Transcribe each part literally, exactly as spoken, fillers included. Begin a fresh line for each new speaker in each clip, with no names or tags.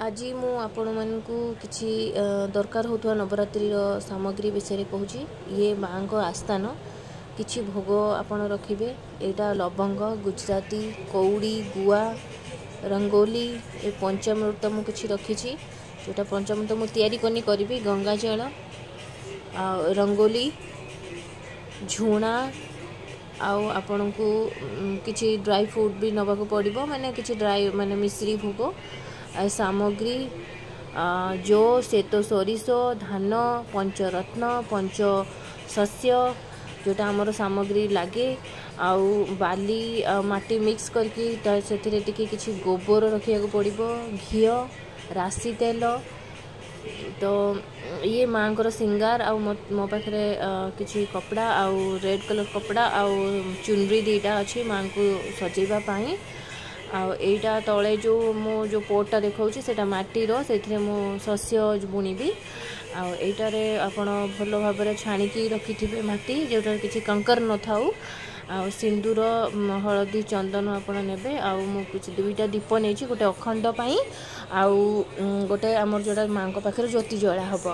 ଆଜି ମୁଁ ଆପଣମାନଙ୍କୁ କିଛି ଅ, ଦରକାର ହେଉଥିବା ନବରାତ୍ରିର ସାମଗ୍ରୀ ବିଷୟରେ କହୁଛି। ଇଏ ମାଆଙ୍କ ଆସ୍ଥାନ। କିଛି ଭୋଗ ଆପଣ ରଖିବେ। ଏଇଟା ଲବଙ୍ଗ, ଗୁଜୁରାତି, କଉଡ଼ି, ଗୁଆ, ରଙ୍ଗୋଲି। ଏ ପଞ୍ଚାମୃତ ମୁଁ କିଛି ରଖିଛି, ଯେଉଁଟା ପଞ୍ଚାମୃତ ମୁଁ ତିଆରି କରିନି, କରିବି। ଗଙ୍ଗା ଜଳ ଆଉ ରଙ୍ଗୋଲି, ଝୁଣା ଆଉ ଆପଣଙ୍କୁ ଉଁ, କିଛି ଡ୍ରାଇ ଫ୍ରୁଟ୍ ବି ନେବାକୁ ପଡ଼ିବ, ମାନେ କିଛି ଡ୍ରାଇ ମାନେ ମିଶ୍ରି ଭୋଗ ଆଉ ସାମଗ୍ରୀ, ଆ, ଜୋ, ଶ୍ଵେତ ସୋରିଷ, ଧାନ, ପଞ୍ଚରତ୍ନ, ପଞ୍ଚ ଶସ୍ୟ, ଯେଉଁଟା ଆମର ସାମଗ୍ରୀ ଲାଗେ। ଆଉ ବାଲି ଆଉ ମାଟି ମିକ୍ସ କରିକି ତା ସେଥିରେ ଟିକେ କିଛି ଗୋବର ରଖିବାକୁ ପଡ଼ିବ, ଘିଅ, ରାଶି ତେଲ। ତ ଇଏ ମାଆଙ୍କର ସିଙ୍ଗାର। ଆଉ ମୋ ମୋ ପାଖରେ ଅ, କିଛି କପଡ଼ା ଆଉ ରେଡ଼୍ କଲର୍ କପଡ଼ା ଆଉ ଚୁନରି ଦୁଇଟା ଅଛି ମାଆଙ୍କୁ ସଜେଇବା ପାଇଁ। ଆଉ ଏଇଟା ତଳେ ଯେଉଁ ମୁଁ ଯେଉଁ ପୋଟ୍ଟା ଦେଖାଉଛି, ସେଇଟା ମାଟିର, ସେଇଥିରେ ମୁଁ ଶସ୍ୟ ବୁଣିବି। ଆଉ ଏଇଟାରେ ଆପଣ ଭଲ ଭାବରେ ଛାଣିକି ରଖିଥିବେ ମାଟି, ଯେଉଁଟାରେ କିଛି କଙ୍କର ନଥାଉ। ଆଉ ସିନ୍ଦୁର, ମ, ହଳଦୀ, ଚନ୍ଦନ ଆପଣ ନେବେ। ଆଉ ମୁଁ କିଛି ଦୁଇଟା ଦୀପ ନେଇଛି, ଗୋଟେ ଅଖଣ୍ଡ ପାଇଁ ଆଉ ଉଁ, ଗୋଟେ ଆମର ଯେଉଁଟା ମାଆଙ୍କ ପାଖରେ ଜ୍ୟୋତି ଜଳା ହେବ।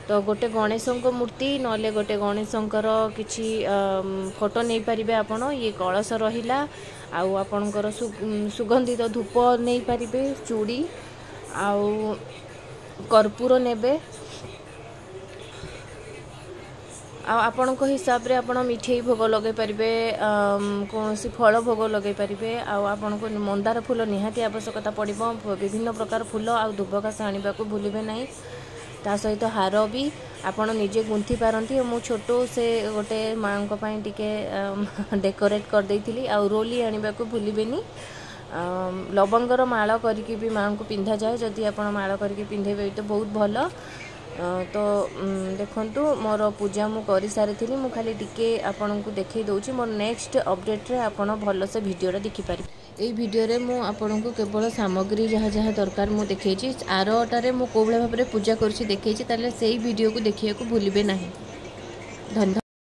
ତ ଗୋଟେ ଗଣେଶଙ୍କ ମୂର୍ତ୍ତି ନହେଲେ ଗୋଟେ ଗଣେଶଙ୍କର କିଛି ଫଟୋ ନେଇପାରିବେ ଆପଣ। ଇଏ କଳସ ରହିଲା। ଆଉ ଆପଣଙ୍କର ସୁ- ସୁଗନ୍ଧିତ ଧୂପ ନେଇପାରିବେ, ଚୁଡ଼ି ଆଉ କର୍ପୂର ନେବେ। ଆଉ ଆପଣଙ୍କ ହିସାବରେ ଆପଣ ମିଠେଇ ଭୋଗ ଲଗାଇ ପାରିବେ, ଅମ୍, କୌଣସି ଫଳ ଭୋଗ ଲଗାଇ ପାରିବେ। ଆଉ ଆପଣଙ୍କୁ ମନ୍ଦାର ଫୁଲ ନିହାତି ଆବଶ୍ୟକତା ପଡ଼ିବ। ବିଭିନ୍ନ ପ୍ରକାର ଫୁଲ ଆଉ ଦୁବ ଘାସ ଆଣିବାକୁ ଭୁଲିବେ ନାହିଁ। ତା ସହିତ ହାର ବି ଆପଣ ନିଜେ ଗୁନ୍ଥି ପାରନ୍ତି। ମୁଁ ଛୋଟ ସେ ଗୋଟେ ମାଆଙ୍କ ପାଇଁ ଟିକେ ଡେକୋରେଟ୍ କରିଦେଇଥିଲି। ଆଉ ରୋଲି ଆଣିବାକୁ ଭୁଲିବେନି। ଅମ୍, ଲବଙ୍ଗର ମାଳ କରିକି ବି ମାଆଙ୍କୁ ପିନ୍ଧାଯାଏ। ଯଦି ଆପଣ ମାଳ କରିକି ପିନ୍ଧେଇବେ ତ ବହୁତ ଭଲ। ଅ, ତ ଉଁ, ଦେଖନ୍ତୁ, ମୋର ପୂଜା ମୁଁ କରିସାରିଥିଲି। ମୁଁ ଖାଲି ଟିକେ ଆପଣଙ୍କୁ ଦେଖେଇ ଦେଉଛି। ମୋର ନେକ୍ସଟ ଅପଡ଼େଟ୍ରେ ଆପଣ ଭଲସେ ଭିଡ଼ିଓଟା ଦେଖିପାରିବେ। ଏଇ ଭିଡ଼ିଓରେ ମୁଁ ଆପଣଙ୍କୁ କେବଳ ସାମଗ୍ରୀ ଯାହା ଯାହା ଦରକାର ମୁଁ ଦେଖେଇଛି। ଆରଟାରେ ମୁଁ କେଉଁ ଭଳିଆ ଭାବରେ ପୂଜା କରୁଛି ଦେଖେଇଛି। ତାହେଲେ ସେଇ ଭିଡ଼ିଓକୁ ଦେଖିବାକୁ ଭୁଲିବେ ନାହିଁ। ଧନ୍ୟବାଦ।